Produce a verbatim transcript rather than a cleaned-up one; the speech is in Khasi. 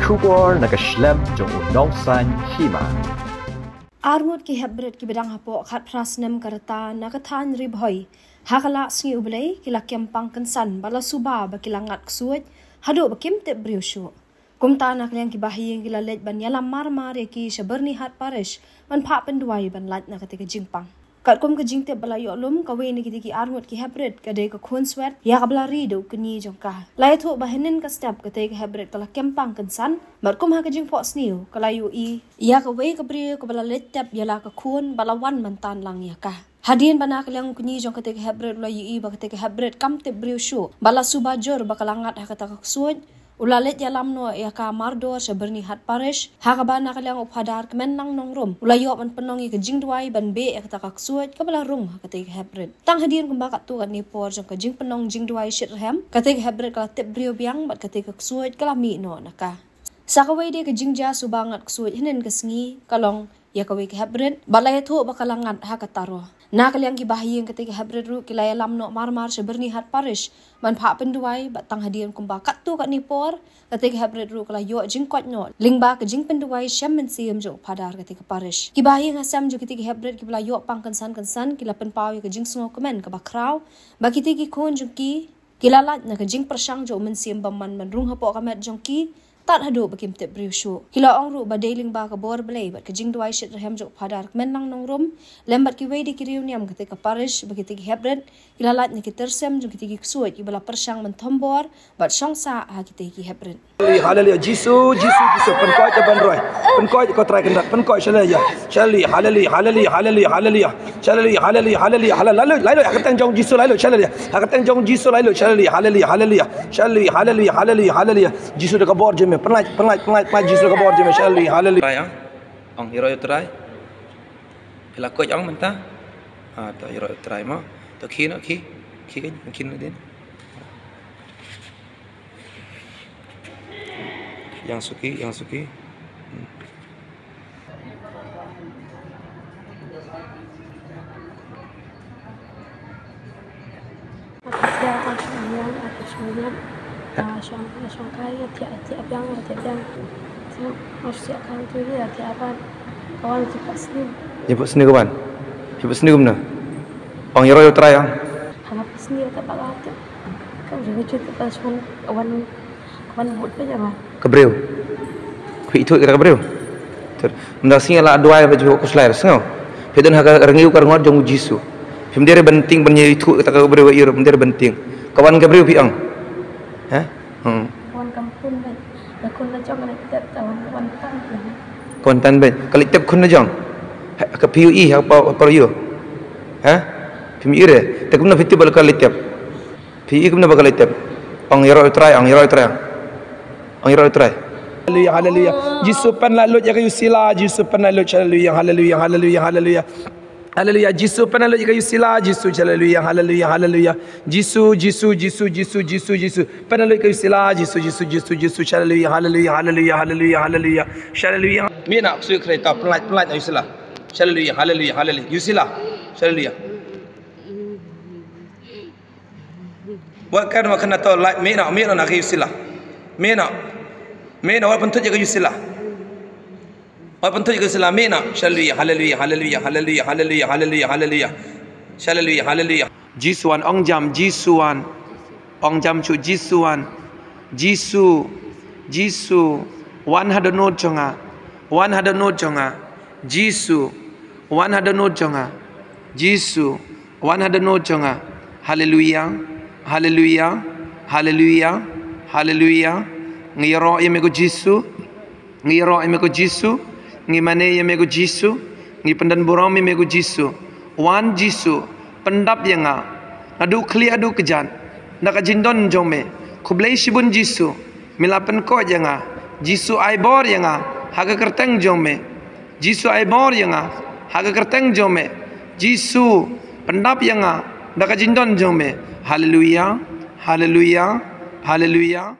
Khubor na ka shlem jong u nongsan hima. Arngut ki hepbrit ki ba dang hapoh khatphra snem ka rta na ka thaiñ Ri Bhoi ha ka la sngi U Blei ki la kem pang kynsan bad la suba ba ki la ngat ksuid haduh ba kim tip briew shuh. Kumta na ka liang ki bahaïing ki la leit ban ïalam marmar ïa ki sha Byrnihat Parish ban phah pynduwai ban lait na kata ka jingpang. Katkum ka jingtip ba la ïoh lum, kawei na kitei ki arngut ki hepbrit ka dei ka khun swet ïa kaba la ri da u kñi jong ka. La ïathuh ba hynnin ka step katei ka hepbrit ka la kem pang kynsan bad kum ha ka jingphohsniew ka la ïohi ïa kawei ka briew kaba la leit tep ïa la ka khun bad la wan ban tan lang ïa ka. Hadien ba na ka liang u kñi jong katei ka hepbrit u la ïohi ba katei ka hepbrit kam tip briew shuh bad la suba jur ba ka la ngat ha kata ka ksuid, u la leit ïalam noh ïa ka mardor sha Byrnihat Parish ha kaba na ka liang u Phadar Kmenlang Nongrum u la ïoh ban pynlong ïa ka jingduwai ban beh ïa kata ka ksuid kaba la rung ha katei ka hepbrit. Tang hadien kumba katto katne por jong ka jingpynlong jingduwai shitrhem, katei ka hepbrit ka la tip briew biang bad katei ka ksuid ka la mih noh na ka. Sa kawei de ka jingjia suba ngat ksuid hynnin ka sngi ka long ïa kawei ka hepbrit bad la ïathuh ba ka la ngat ha ka taroh. Na ka liang ki bahaïing katei ka hepbrit ruh ki la ïalam noh marmar sha Byrnihat Parish ban phah pynduwai bad tang hadien kumba katto katne por katei ka hepbrit ruh ka la ïoh jingkoit noh lyngba ka jingpynduwai shem mynsiem jong u Phadar katei ka parish. Ki bahaïing ha sem jong kitei ki hepbrit kiba la ïoh pang kynsan kynsan ki la pynpaw ïa ka jingsngewkmen kaba khraw ba kitei ki khun jong ki ki la lait na ka jingpyrshang jong u Mynsiem Bymman ban rung hapoh ka met jong ki tad haduh ba kim tip briew shuh. Ki la ong ruh ba dei lyngba ka bor Blei bad ka jingduwai shitrhem jong u Phadar Kmenlang Nongrum lem bad kiwei de ki riewniam katei ka parish ba kitei ki hepbrit ki la lait na ki tyrsem jong kitei ki ksuid kiba la pyrshang ban thombor bad shong sah ha kitei ki hepbrit. Haleluya, Jisu, Jisu, Jisu, pynkoit ïa ban roi. Pynkoit ko Trai Kynrad, pynkoit, haleluya. Haleluya, haleluya, haleluya, haleluya, haleluya. Haleluya, haleluya, haleluya, haleluya. Lai lut, lai lut, ha ka kyrteng jong Jisu, lai lut, haleluya. Ha ka kyrteng jong Jisu, lai lut, haleluya, haleluya, haleluya. Haleluya, haleluya, haleluya, haleluya. Jisu da ka bor jong me, pynlait, pynlait, pynlait, pynlait, Jisu da ka bor jong me, haleluya, haleluya. Trai, ah. Ong, ïaroh ïa u Trai. Phi la koit ong mynta. Ah, to ïaroh ïa u Trai mo. To khie noh, khie. Khie kein, khie noh dien. Ïeng suki, ïeng suki. Hmm. Ati tia, ah, shong ïeng, ati shong ïeng. Ah, shong, shong kai, ati, ati biang, ati biang. Ati, ah, shong kai tu ye, ati aban. Kawan jingphohsniew. Jingphohsniew kawan. Jingphohsniew kumno? Ong ïaroh ïa u Trai ong. Haba phohsniew ta ba ka tu. Ka briew ka jut ka shong wan, wan bud ka jama. Ka briew. Phi ithuh kata ka briew. Ter, mynta sngi la duwai ba jubok khuslai sngew. Phi don ha ka rngiew ka rngot jong u Jisu. Phim dei re ban tieng ban ïa ithuh kata ka briew ka ïa, phim dei re ban tieng. Ka wan ka briew phi ong. Ha? Hmm. Wan kam pun ba. Ba kun la jong ka la tep ta wan, wan tan. Ka wan tan ba. Ka la tep khun la jong. Ha, ka phi ïohi ha pa, pa ïoh. Ha? Phim ïohi re. Te kumno phi tip ba la ka la tep. Phi i kumno ba ka la tep. Ong ïaroh ïa u Trai, ong ïaroh ïa u Trai. Ong ïaroh ïa u Trai. Haleluya, haleluya. Jisu pynlait lut ïa ka Yusila, Jisu pynlait lut, haleluya, haleluya, haleluya, haleluya. Haleluya, Jisu pynlait lut ïa ka Yusila, Jisu, haleluya, haleluya, haleluya. Jisu, Jisu, Jisu, Jisu, Jisu, Jisu. Pynlait lut ïa ka Yusila, Jisu, Jisu, Jisu, Jisu, haleluya, haleluya, haleluya, haleluya, haleluya. Haleluya. Mina, suyu kreta, pynlait, pynlait, Yusila. Haleluya, haleluya, haleluya. Yusila. Haleluya. Wat kan wa kana to la, mina, mina na ka Yusila. Mina. Mina, wat pynthut ïa ka Yusila. Wat pynthut ïa ka Yusila, mina. Haleluya, haleluya, haleluya, haleluya, haleluya, haleluya, haleluya. Haleluya, haleluya. Jisu wan, ong jam, Jisu wan. Ong jam shu, Jisu wan. Jisu, Jisu. Wan ha dohnud jong nga. Wan ha dohnud jong nga. Jisu. Wan ha dohnud jong nga. Jisu. Wan ha dohnud jong nga. Haleluya. Haleluya. Haleluya. Haleluya. Ngi ïaroh ïa me ko Jisu. Ngi ïaroh ïa me ko Jisu. Ngi mane ïa me ko Jisu. Ngi pyndon burom ïa me ko Jisu. Wan Jisu. Pyndap ïa nga. Naduh khlieh haduh kjat. Da ka jingdon jong me. Khublei shibun Jisu. Me la pynkoit ïa nga. Jisu ai bor ïa nga. Ha ka kyrteng jong me. Jisu ai bor ïa nga. Ha ka kyrteng jong me. Jisu pyndap ïa nga. Da ka jingdon jong me. Haleluya. Haleluya. Haleluya.